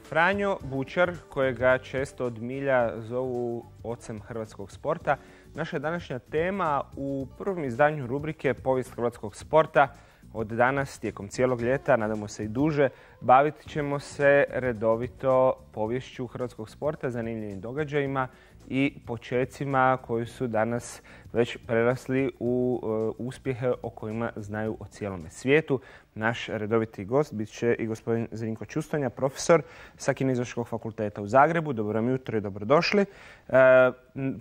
Franjo Bučar, kojega često od milja zovu ocem hrvatskog sporta, naša današnja tema u prvom izdanju rubrike Povijest hrvatskog sporta. Od danas, tijekom cijelog ljeta, nadamo se i duže, bavit ćemo se redovito poviješću hrvatskog sporta, zanimljivim događajima i počecima koji su danas već prerasli u uspjehe o kojima znaju o cijelome svijetu. Naš redoviti gost bit će i gospodin Zrinko Čustonja, profesor sa Kineziološkog fakulteta u Zagrebu. Dobro vam jutro i dobrodošli.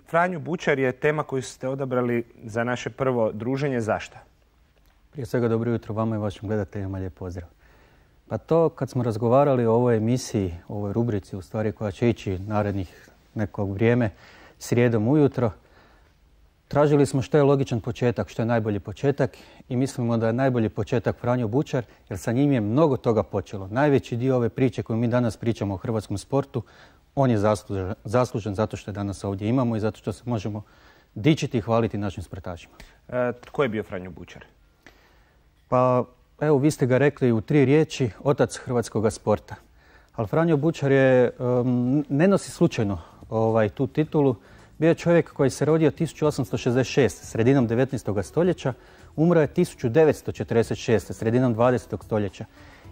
Franjo Bučar je tema koju ste odabrali za naše prvo druženje. Zašto? Prije svega dobro jutro vama i vašim gledateljima, lijep pozdrav. Pa to kad smo razgovarali o ovoj emisiji, o ovoj rubrici u stvari koja će ići narednih nekog vrijeme, srijedom ujutro, tražili smo što je logičan početak, što je najbolji početak i mislimo da je najbolji početak Franjo Bučar jer sa njim je mnogo toga počelo. Najveći dio ove priče koju mi danas pričamo o hrvatskom sportu, on je zaslužen zato što je danas ovdje imamo i zato što se možemo dičiti i hvaliti našim sportašima. Tko je bio Franjo Bučar? Pa evo, vi ste ga rekli u 3 riječi, otac hrvatskog sporta. Ali Franjo Bučar je, ne nosi slučajno tu titulu. Bio je čovjek koji se rodio 1866. sredinom 19. stoljeća, umro je 1946. sredinom 20. stoljeća.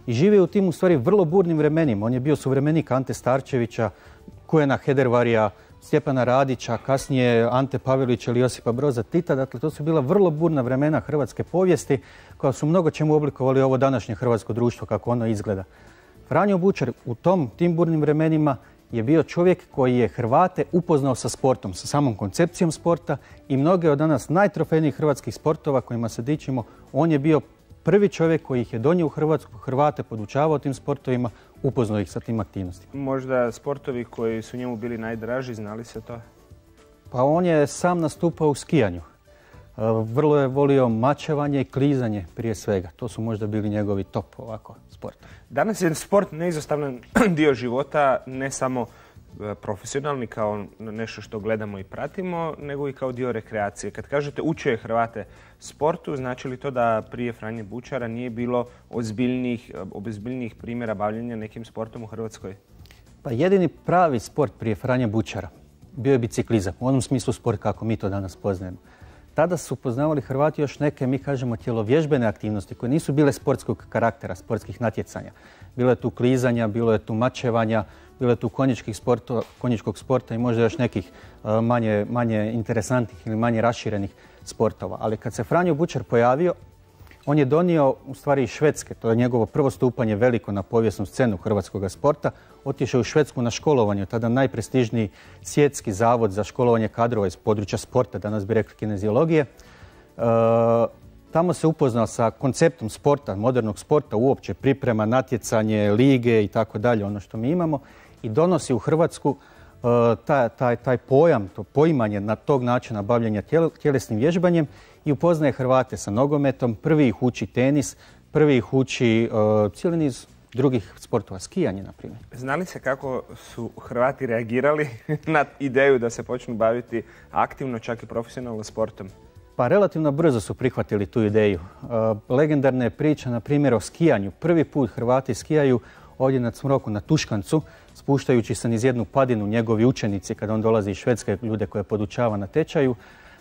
I živio u tim u stvari vrlo burnim vremenima. On je bio suvremenik Ante Starčevića, Kujena Hedervarija, Stjepana Radića, kasnije Ante Pavelića ili Josipa Broza Tita. Dakle, to su bila vrlo burna vremena hrvatske povijesti koja su mnogo čemu oblikovali ovo današnje hrvatsko društvo kako ono izgleda. Franjo Bučar u tim burnim vremenima je bio čovjek koji je Hrvate upoznao sa sportom, sa samom koncepcijom sporta i mnoge od danas najtrofejnijih hrvatskih sportova kojima se dičimo, on je bio prvi čovjek koji ih je donio u Hrvatsku, Hrvate podučavao tim sportovima, upoznao ih sa tim aktivnostima. Možda sportovi koji su njemu bili najdraži, znali se to? Pa on je sam nastupao u skijanju. Vrlo je volio mačevanje i klizanje prije svega. To su možda bili njegovi top sporta. Danas je sport neizostavan dio života, ne samo profesionalni kao nešto što gledamo i pratimo, nego i kao dio rekreacije. Kad kažete učio je Hrvate sportu, znači li to da prije Franje Bučara nije bilo ozbiljnijih primjera bavljenja nekim sportom u Hrvatskoj? Pa jedini pravi sport prije Franje Bučara bio je biciklizam, u onom smislu sport kako mi to danas poznajemo. Tada su poznavali Hrvati još neke, mi kažemo, tjelovježbene aktivnosti koje nisu bile sportskog karaktera, sportskih natjecanja. Bilo je tu klizanja, bilo je tu mačevanja, bilo je tu konjičkog sporta i možda još nekih manje interesantnih ili manje raširenih sportova. Ali kad se Franjo Bučar pojavio, on je donio u stvari iz Švedske, to je njegovo prvo stupanje veliko na povijesnu scenu hrvatskog sporta, otišao u Švedsku na školovanje, tada najprestižniji svjetski zavod za školovanje kadrova iz područja sporta, danas bi rekli kineziologije. Tamo se upoznao sa konceptom sporta, modernog sporta, uopće priprema, natjecanje, lige i tako dalje, ono što mi imamo, i donosi u Hrvatsku taj pojam, to poimanje na tog načina bavljenja tjelesnim vježbanjem i upoznaje Hrvate sa nogometom, prvi ih uči tenis, prvi ih uči cijeli niz drugih sportova, skijanje na primjer. Znali se kako su Hrvati reagirali na ideju da se počnu baviti aktivno, čak i profesionalno sportom? Pa relativno brzo su prihvatili tu ideju. Legendarna je priča, na primjer, o skijanju. Prvi put Hrvati skijaju ovdje na Cmroku, na Tuškancu, spuštajući se niz jednu padinu, njegovi učenici, kada on dolazi iz Švedske, ljude koje podučava na tečaju.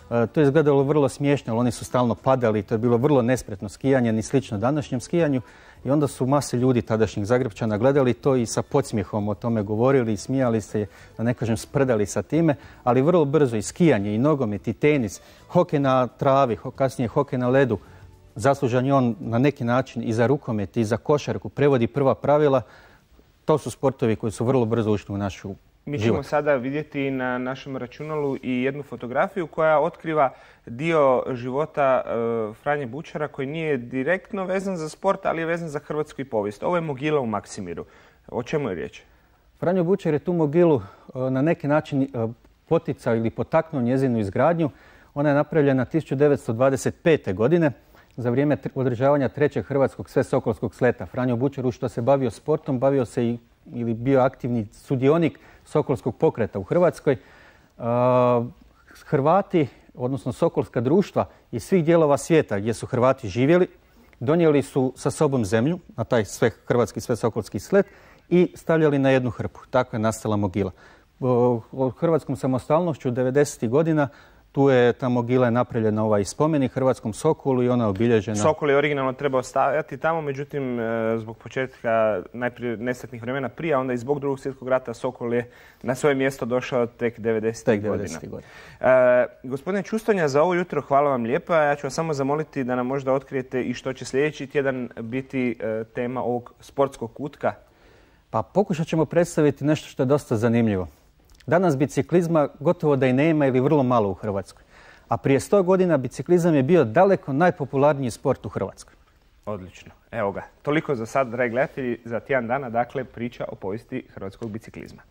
To je izgledalo vrlo smiješno, ali oni su stalno padali, to je bilo vrlo nespretno skijanje, ni slično današnjem skijanju. I onda su mase ljudi tadašnjih Zagrebčana gledali to i sa podsmijehom o tome govorili i smijali se, da ne kažem sprdali sa time, ali vrlo brzo i skijanje, i nogomet, i tenis, hokej na travi, kasnije hokej na ledu, zaslužan je on na neki način i za rukomet i za košarku, prevodi prva pravila. To su sportovi koji su vrlo brzo ušli u našu život. Mi ćemo sada vidjeti na našem računalu i jednu fotografiju koja otkriva dio života Franje Bučara koji nije direktno vezan za sport, ali je vezan za hrvatsku povijest. Ovo je mogila u Maksimiru. O čemu je riječ? Franjo Bučar je tu mogilu na neki način poticao ili potaknuo njezinu izgradnju. Ona je napravljena 1925. godine za vrijeme održavanja 3. hrvatskog svesokolskog sleta. Franjo Bučar, što se bavio sportom, bavio se ili bio aktivni sudionik Sokolskog pokreta u Hrvatskoj. Hrvati, odnosno sokolska društva iz svih dijelova svijeta gdje su Hrvati živjeli, donijeli su sa sobom zemlju na taj hrvatski svesokolski slet i stavljali na jednu hrpu. Tako je nastala mogila. Od hrvatskom samostalnošću 90. godina tu je ta mogila napravljena ovaj spomenik Hrvatskom Sokolu i ona je obilježena. Sokol je originalno trebao stajati tamo, međutim zbog početka najprije nesretnih vremena prije, a onda i zbog Drugog svjetskog rata Sokol je na svoje mjesto došao tek 90. godina. Gospodine Čustonja, za ovo jutro hvala vam lijepa. Ja ću vas samo zamoliti da nam možda otkrijete i što će sljedeći tjedan biti tema ovog sportskog kutka. Pa pokušat ćemo predstaviti nešto što je dosta zanimljivo. Danas biciklizma gotovo da i nema ili vrlo malo u Hrvatskoj. A prije 100 godina biciklizam je bio daleko najpopularniji sport u Hrvatskoj. Odlično. Evo ga. Toliko za sad, dragi gledatelji, za tjedan dana, dakle, priča o povijesti hrvatskog biciklizma.